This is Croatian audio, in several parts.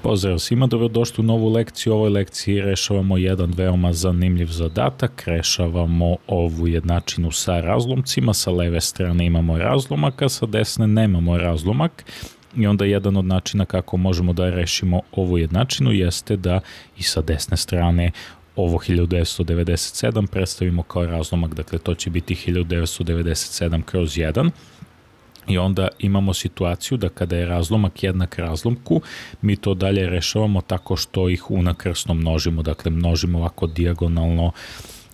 Pozdrav svima, dobrodošli u novu lekciju. U ovoj lekciji rešavamo jedan veoma zanimljiv zadatak. Rešavamo ovu jednačinu sa razlomcima. Sa leve strane imamo razlomak, a sa desne nemamo razlomak. I onda jedan od načina kako možemo da rešimo ovu jednačinu jeste da i sa desne strane ovo 1997 predstavimo kao razlomak. Dakle, to će biti 1997 kroz 1. I onda imamo situaciju da kada je razlomak jednak razlomku, mi to dalje rešavamo tako što ih unakrsno množimo. Dakle, množimo ovako dijagonalno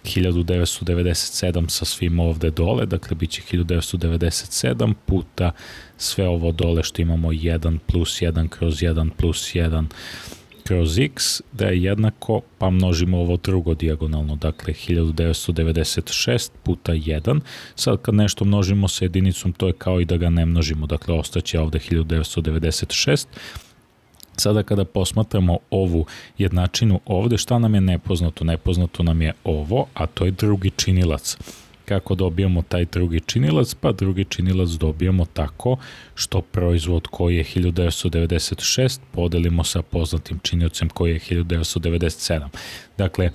1997 sa svim ovde dole, dakle bit će 1997 puta sve ovo dole što imamo 1 plus 1 kroz 1 plus 1 kroz x, da je jednako, pa množimo ovo drugo dijagonalno, dakle 1996 puta 1. Sad kad nešto množimo sa jedinicom, to je kao i da ga ne množimo, dakle ostaće ovde 1996. Sada kada posmatramo ovu jednačinu ovde, šta nam je nepoznato? Nepoznato nam je ovo, a to je drugi činilac. Kako dobijamo taj drugi činilac? Pa drugi činilac dobijamo tako što proizvod koji je 1996 podelimo sa poznatim činiocem koji je 1997. Dakle,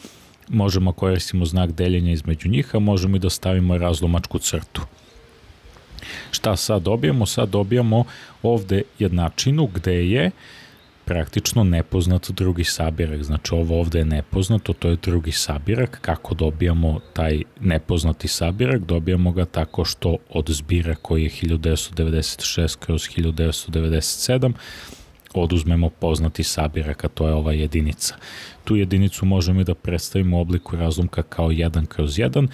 možemo koristimo znak deljenja između njih, a možemo i da stavimo razlomačku crtu. Šta sad dobijamo? Sad dobijamo ovde jednačinu gde je praktično nepoznat drugi sabirak. Znači ovo ovde je nepoznato, to je drugi sabirak. Kako dobijamo taj nepoznati sabirak? Dobijamo ga tako što od zbira koji je 1996 kroz 1997 oduzmemo poznati sabirak, a to je ova jedinica. Tu jedinicu možemo i da predstavimo u obliku razlomka kao 1 kroz 1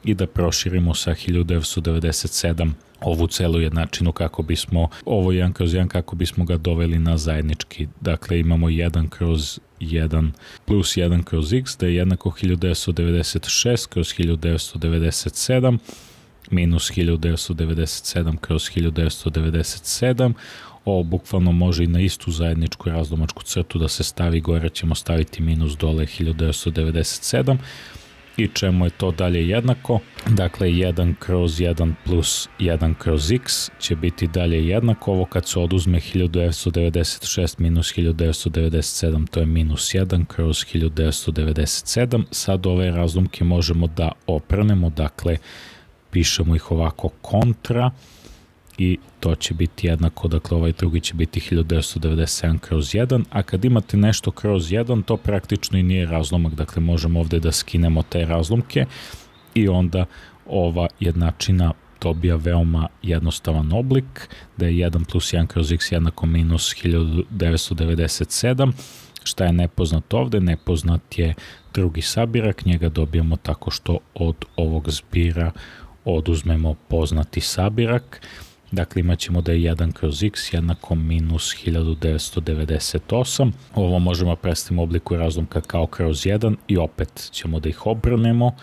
i da proširimo sa 1997 ovu celu jednačinu kako bismo, ovo 1 kroz 1 kako bismo ga doveli na zajednički. Dakle, imamo 1 kroz 1 plus 1 kroz x, da je jednako 1996 kroz 1997 minus 1997 kroz 1997. Ovo bukvalno može i na istu zajedničku razlomačku crtu da se stavi, gore ćemo staviti minus dole 1997. I čemu je to dalje jednako? Dakle, 1 kroz 1 plus 1 kroz x će biti dalje jednako. Ovo kad se oduzme 1996 minus 1997, to je minus 1 kroz 1997. Sad ove razlomke možemo da oprnemo, dakle, pišemo ih ovako kontra i to će biti jednako, dakle ovaj drugi će biti 1997 kroz 1, a kad imate nešto kroz 1, to praktično i nije razlomak, dakle možemo ovde da skinemo te razlomke i onda ova jednačina dobija veoma jednostavan oblik, da je 1 plus 1 kroz x jednako minus 1997. Šta je nepoznat ovde? Nepoznat je drugi sabirak, njega dobijamo tako što od ovog zbira oduzmemo poznati sabirak. Dakle, imat ćemo da je 1 kroz x jednako minus 1998. Ovo možemo predstaviti u obliku razlomka kao kroz 1 i opet ćemo da ih obrnemo.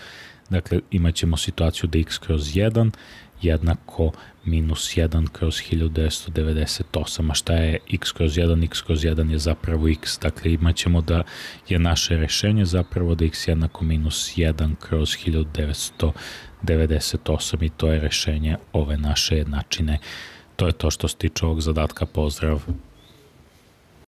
Dakle, imat ćemo situaciju da x kroz 1 jednako minus 1 kroz 1998. A šta je x kroz 1? X kroz 1 je zapravo x. Dakle, imat ćemo da je naše rešenje zapravo da x jednako minus 1 kroz 1998 i to je rešenje ove naše jednačine. To je to što se tiče ovog zadatka. Pozdrav!